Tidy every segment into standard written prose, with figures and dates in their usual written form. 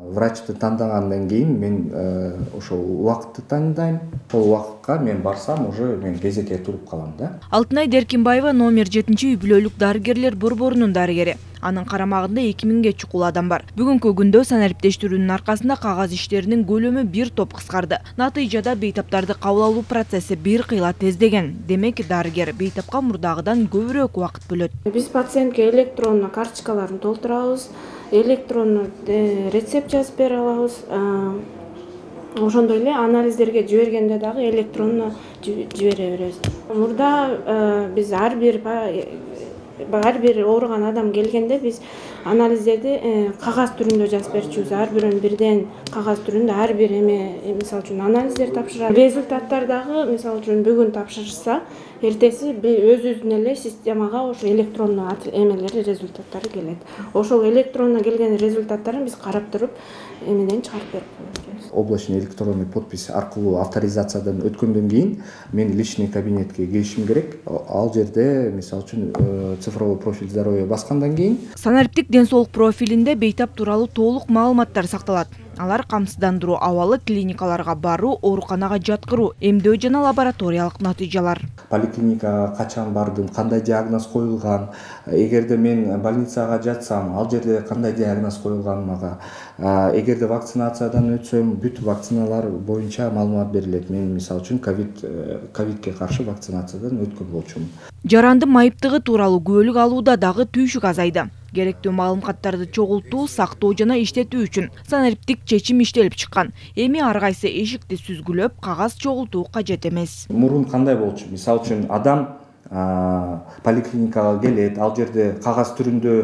Врачты тандагандан кийин мен ошол убакытты тандайм. Ошол убакытка мен барсам уже мен кезекке туруп калам да. Алтынай Деркинбаева номер 7 үй бүлөлүк дарыгерлер борборунун дарыгери. Анын карамагында 2000ге чукул адам бар. Бүгүнкү күндө санариптештирүүнүн аркасында кагаз иштеринин көлөмү бир топ кыскарды. Натыйжада бейтаптарды кабыл алуу процесси бир кыйла тездеген. Демек дарыгер бейтапка мурдагыдан көбүрөөк убакыт бөлөт. Биз пациентке электронно карточкаларын толтурабыз, электронно рецепт жазып бере алабыз. Ошондой эле анализдерге жибергенде дагы электронно жибере беребиз. Мурда биз ар бир ооруган адам келгенде биз анализдерди кагаз түрүндө жазып берчүбүз. Ар бирөөнү бирден кагаз түрүндө ар бир мисалы үчүн анализдер тапшырат. Результаттар дагы мисалы үчүн бүгүн тапшырышса, эртеси өзүбүздүн эле системага ошо электронно результаттары келет. Ошол электронно келген результаттарын биз карап туруп эмеден чыгарып берип коебуз. Облачный электронный подпись аркылуу авторизациядан өткөндөн кийин мен личный кабинетке киришим керек. Ал жерде мисалы үчүн цифровой профиль здоровья баскандан кийин санариптик ден соолук профилинде бейтап тууралуу толук маалыматтар сакталат. Алар камсыздандыруу абалы, клиникаларга баруу, ооруканага жаткыруу, эмдөө жана лабораториялык натыйжалар. Поликлиникага качан бардым, кандай диагноз коюлган, эгерде мен больницага жатсам, ал жерде кандай диагноз коюлган мага, эгерде вакцинациядан өтсөм, бүт вакциналар боюнча маалымат берилет. Мен мисалы үчүн ковидке каршы вакцинациядан өткөн болчумун. Жаранды майыптыгы тууралуу күбөлүк алууда дагы түйшүк азайды. Керектүү маалыматтарды чогултуу, сактоо жана иштетүү үчүн санариптик чечим иштелип чыккан. Эми ар кайсы эшикти сүзгүлөп, кагаз чогултуу кажет эмес. Мурун кандай болчу? Мисалы үчүн адам поликлиникага келет, ал жерде кагаз түрүндө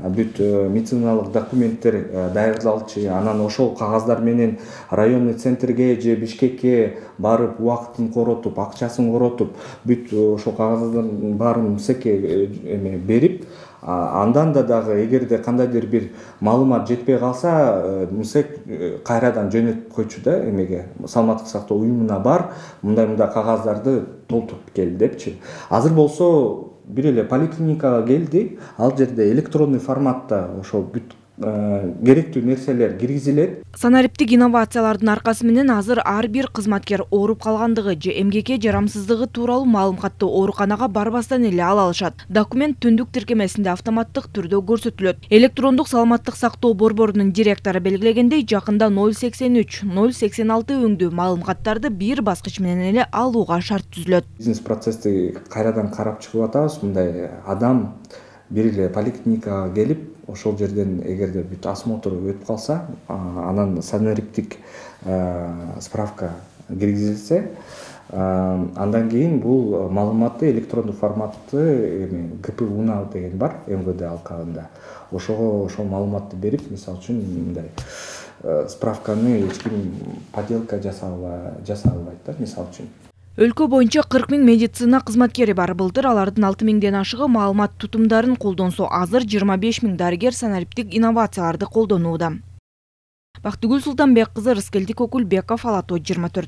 бүт медициналык документтер даярдалчу, анан ошол кагаздар менен районный центрге же Бишкекке барып, убакытын коротуп, акчасын коротуп, бүт ошол кагаздардын баарын МСЭКке берип, андан да дагы эгерде кандайдыр бир маалымат жетпей калса, МСЭК кайрадан жөнөтүп койчу да эмеге, саламаттык сактоо уюмуна бар, мындай кагаздарды толтуруп кел депчи. Азыр болсо бир эле поликлиникага келди, ал жерде электронный форматта ошол бүт керектүү нерселер киргизилет. Санариптик инновациялардын аркасы менен азыр ар бир кызматкер ооруп калгандыгы же эмгекке жарамсыздыгы тууралуу маалыматты ооруканага барбастан эле ала алышат. Документ түндүк тиркемесинде автоматтык түрдө көрсөтүлөт. Электрондук саламаттык сактоо борборунун директору белгилегендей, жакында 083, 086 өңдүү маалыматтарды бир баскыч менен эле алууга шарт түзүлөт. Бизнес процессти кайрадан карап чыгып атабыз. Мындай адам бир эле поликлиникага келип, ошол жерден эгерде бүт осмотр өтүп калса, анан санариптик справка киргизилсе, андан кийин бул маалыматты электрондук форматты ГПУна деген бар МВД алкагында. Ошого ошол маалыматты берип, мисалы үчүн мындай справканы эч ким подделка жасай албайт да, мисалы үчүн. Өлкө боюнча 40 000 медицина кызматкери бар. Былтыр алардын 6 000ден ашыгы маалымат тутумдарын колдонсо, азыр 25 000 дарыгер санариптик инновацияларды колдонууда. Бактыгүл Султанбек кызы, Рыскелди Кокулбеков, Ала Тоо 24.